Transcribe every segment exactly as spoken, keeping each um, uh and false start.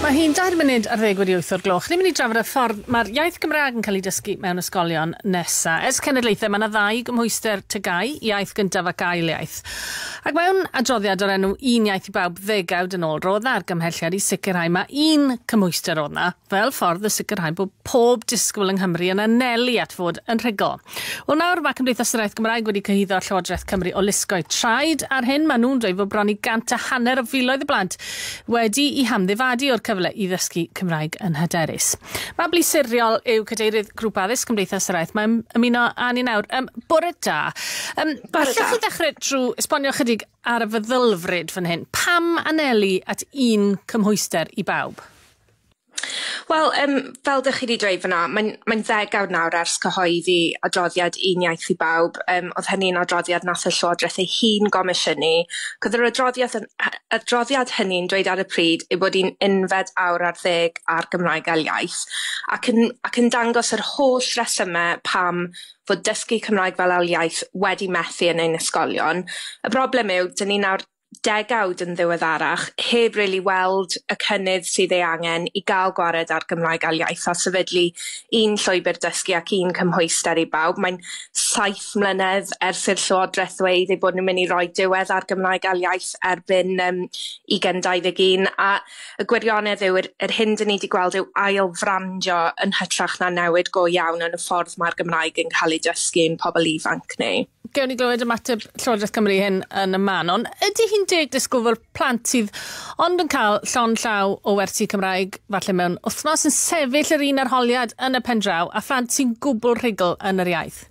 Mae hi'n dair munud ar ddeg wedi wyth o'r gloch. Ni'n mynd i drafod y ffordd mae'r iaith Gymraeg yn cael ei dysgu mewn ysgolion nesa. Ers cenedlaethau mae yna ddau gymhwyster T G A U, iaith gyntaf ac ail iaith. Ac mewn adroddiad o'r enw Un Iaith i Bawb ddegawd yn ôl, roedd 'na argymhelliad i sicrhau mae un cymhwyster oedd 'na, fel ffordd o sicrhau bod pob disgwyl yng Nghymru yn anelu at fod yn rhugl. Wel, nawr mae Cymdeithas yr Iaith Gymraeg wedi cyhuddo Llywodraeth Cymru o lusgo'u traed ar hyn. Maen nhw'n dweud fod bron i gant a hanner o filoedd o blant wedi eu hamddifadu o'r cyfle i ddysgu Cymraeg yn hyderus. Mabli Siriol yw cadeirydd Grŵp Addysg Cymdeithas yr Iaith. Mae'n ymuno â ni nawr. Um, bore da. Um, Bore Allwch da. chi ddechrau trwy esbonio chydig ar y feddylfryd fan hyn? Pam anelu at un cymhwyster i bawb? Wel, um, fel dych chi wedi dweud fyna, mae'n mae'n ddegawd nawr ers cyhoeddi adroddiad Un Iaith i Bawb. Um, oedd hynny'n adroddiad nath y Llywodraeth ei hun gomisiynu. Oedd yr adroddiad, yn, adroddiad hynny'n dweud ar y pryd ei bod hi'n unfed awr ar ddeg ar Gymraeg ail iaith, ac yn, ac yn dangos yr holl resymau pam fod dysgu Cymraeg fel ail iaith wedi methu yn ein ysgolion. Y broblem yw, dyn ni nawr degawd yn ddiweddarach heb really weld y cynnydd sydd ei angen i gael gwared ar Gymraeg ail iaith a sefydlu un llwybr dysgu ac un cymhwyster i bawb. Mae'n saith mlynedd ers i'r Llywodraeth ddweud eu bod nhw'n mynd i roi diwedd ar Gymraeg ail iaith erbyn um, ugain dau ddeg un, a y gwirionedd yw yr, yr hyn dyn ni wedi gweld yw ail frandio yn hytrach na newid go iawn yn y ffordd mae'r Gymraeg yn cael ei dysgu i'n pobl ifanc ni. Gewn ni glywed ymateb Llywodraeth Cymru hyn yn y man, ond ydy hi'n deg disgwyl fel plant sydd ond yn cael llond llaw o wersi Cymraeg falle mewn wythnos yn sefyll yr un arholiad yn y pen draw a phlant sy'n gwbl rhugl yn yr iaith?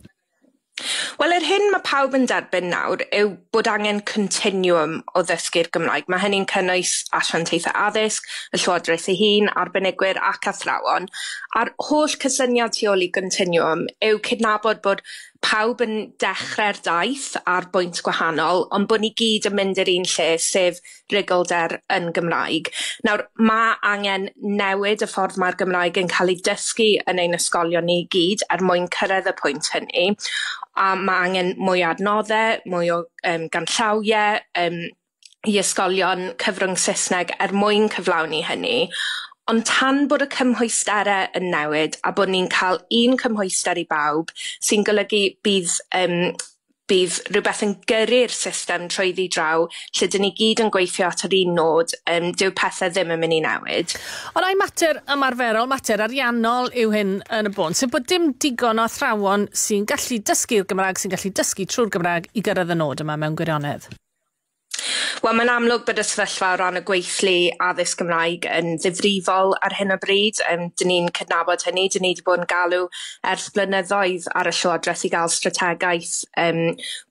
Wel, yr hyn mae pawb yn derbyn nawr yw bod angen continuum o ddysgu'r Gymraeg. Mae hynny'n cynnwys asiantaethau addysg, y Llywodraeth ei hun, arbenigwyr ac athrawon. A'r holl cysyniad tu ôl i continuum yw cydnabod bod pawb yn dechrau'r daith ar bwynt gwahanol, ond bod ni gyd yn mynd i'r un lle, sef ruglder yn Gymraeg. Nawr, mae angen newid y ffordd mae'r Gymraeg yn cael ei dysgu yn ein ysgolion ni gyd er mwyn cyrraedd y pwynt hynny. A mae angen mwy o adnoddau, mwy o um, ganllawiau um, i ysgolion cyfrwng Saesneg er mwyn cyflawni hynny. Ond tan bod y cymhwysterau yn newid a bod ni'n cael un cymhwyster i bawb, sy'n golygu bydd um, bydd rhywbeth yn gyrru'r system trwyddi draw, lle dyn ni gyd yn gweithio at yr un nod, um, dyw pethau ddim yn mynd i newid. Ond ai mater ymarferol, mater ariannol yw hyn yn y bôn, sef bod dim digon o athrawon sy'n gallu dysgu'r Gymraeg, sy'n gallu dysgu trwy'r Gymraeg i gyrraedd y nod yma mewn gwirionedd? Wel, mae'n amlwg bod y sefyllfa o ran y gweithlu addysg Gymraeg yn ddifrifol ar hyn o bryd. Um, dyn ni'n cydnabod hynny. Dyn ni wedi bod yn galw ers blynyddoedd ar y Llywodraeth i gael strategaeth um,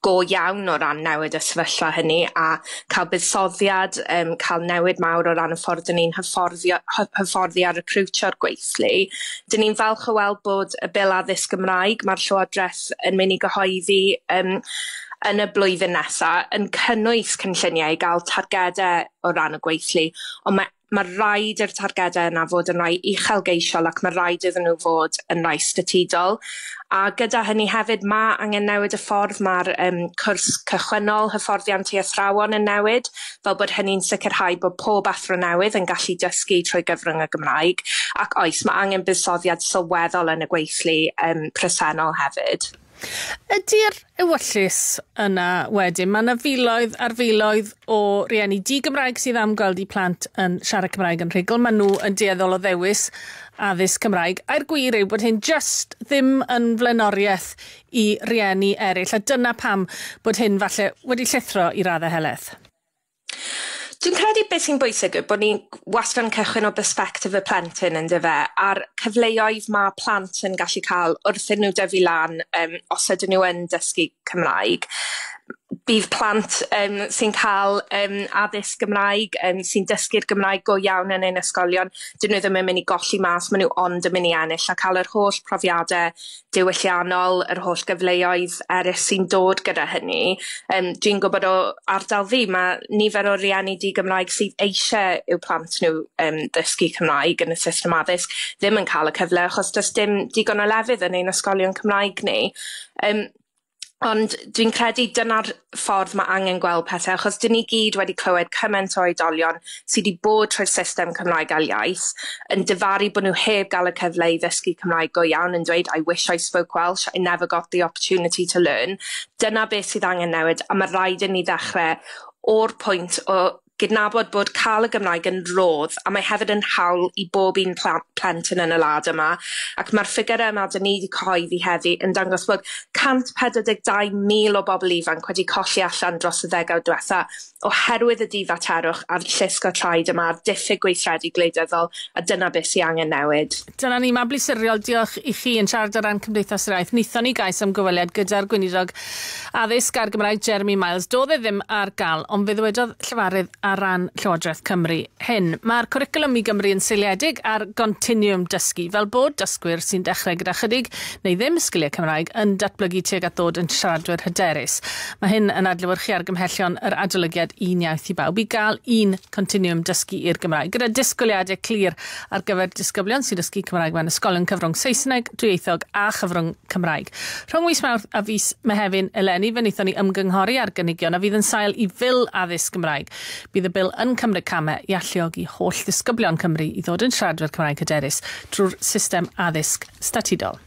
go iawn o ran newid y sefyllfa hynny a cael buddsoddiad, um, cael newid mawr o ran y ffordd dyn ni'n hyfforddi, hyfforddi a recrwtio'r gweithlu. Dyn ni'n falch o weld bod y Bil Addysg Gymraeg mae'r Llywodraeth yn mynd i gyhoeddi um, yn y blwyddyn nesaf yn cynnwys cynlluniau i gael targedau o ran y gweithlu, ond mae mae rhaid i'r targedau yna fod yn rhai uchelgeisiol ac mae rhaid iddyn nhw fod yn rhai statudol. A gyda hynny hefyd, mae angen newid y ffordd mae'r um, cwrs cychwynnol hyfforddiant i athrawon yn newid, fel bod hynny'n sicrhau bod pob athro newydd yn gallu dysgu trwy gyfrwng y Gymraeg. Ac oes, mae angen buddsoddiad sylweddol yn y gweithlu um, presennol hefyd. Ydy'r ewyllys yna wedyn? Mae yna filoedd ar filoedd o rieni di-Gymraeg sydd am gweld eu plant yn siarad Cymraeg yn rhugl. Maen nhw yn dueddol o ddewis addysg Cymraeg. A'r gwir yw bod hyn just ddim yn flaenoriaeth i rieni eraill. A dyna pam bod hyn falle wedi llithro i raddau helaeth. Dwi'n credu beth sy'n bwysig yw bod ni'n wastad yn cychwyn o bersbectif y plentyn, yn dyfe, a'r cyfleoedd mae plant yn gallu cael wrth iddyn nhw dyfu lan um, os ydyn nhw yn dysgu Cymraeg. Bydd plant um, sy'n cael um, addysg Gymraeg, um, sy'n dysgu'r Gymraeg go iawn yn ein ysgolion, dyn nhw ddim yn mynd i golli mas, maen nhw ond yn mynd i ennill a cael yr holl profiadau diwylliannol, yr holl gyfleoedd eraill sy'n dod gyda hynny. Um, dwi'n gwybod o ardal fi, mae nifer o rieni di-Gymraeg sydd eisiau i'w plant nhw um, ddysgu Cymraeg yn y system addysg ddim yn cael y cyfle achos does dim digon o lefydd yn ein ysgolion Cymraeg ni. Um, Ond dwi'n credu dyna'r ffordd mae angen gweld pethau, achos dyn ni gyd wedi clywed cymaint o oedolion sydd wedi bod trwy'r system Cymraeg ail iaith yn difaru bod nhw heb gael y cyfle i ddysgu Cymraeg go iawn, yn dweud, "I wish I spoke Welsh, I never got the opportunity to learn." Dyna beth sydd angen newid, a mae rhaid i ni ddechrau o'r pwynt o gydnabod bod cael y Gymraeg yn rodd, a mae hefyd yn hawl i bob un plentyn yn y wlad yma, ac mae'r ffigurau yma dyn ni wedi cyhoeddi heddi yn dangos bod cant pedwar deg dau mil o bobl ifanc wedi colli allan dros y ddegawd diwetha oherwydd y difaterwch a'r llusgo traed yma a'r diffyg gweithredu gwleidyddol, a dyna beth sy'n angen newid. Dyna ni, Mabli Siriol, diolch i chi yn siarad ar ran Cymdeithas yr Iaith. Wnaethon ni gais am gyfweliad gyda'r Gweinidog Addysg a'r Gymraeg Jeremy Miles. Doedd e ddim ar gael, ond fe ddywedodd llefarydd ar ran Llywodraeth Cymru hyn. Mae'r cwricwlwm i Gymru yn seiliedig ar gontiniwm dysgu, fel bod dysgwyr sy'n dechrau gyda chydig neu ddim sgiliau Cymraeg yn datblygu tuag at ddod yn siaradwyr hyderus. Mae hyn yn adlewyrchu argymhellion yr adolygiad Un Iaith i Bawb i gael un continwm dysgu i'r Gymraeg, gyda disgwyliadau clir ar gyfer disgyblion sy'n dysgu Cymraeg mewn ysgolion cyfrwng Saesneg, dwyieithog a chyfrwng Cymraeg. Rhwng mis Mawrth a fis Mehefin eleni, fe wnaethon ni ymgynghori ar gynigion a fydd yn sail i Fil Addysg Gymraeg. Bydd y bil yn cymryd camau i alluogi holl ddisgyblion Cymru i ddod yn siaradwyr Cymraeg hyderus drwy'r system addysg statudol.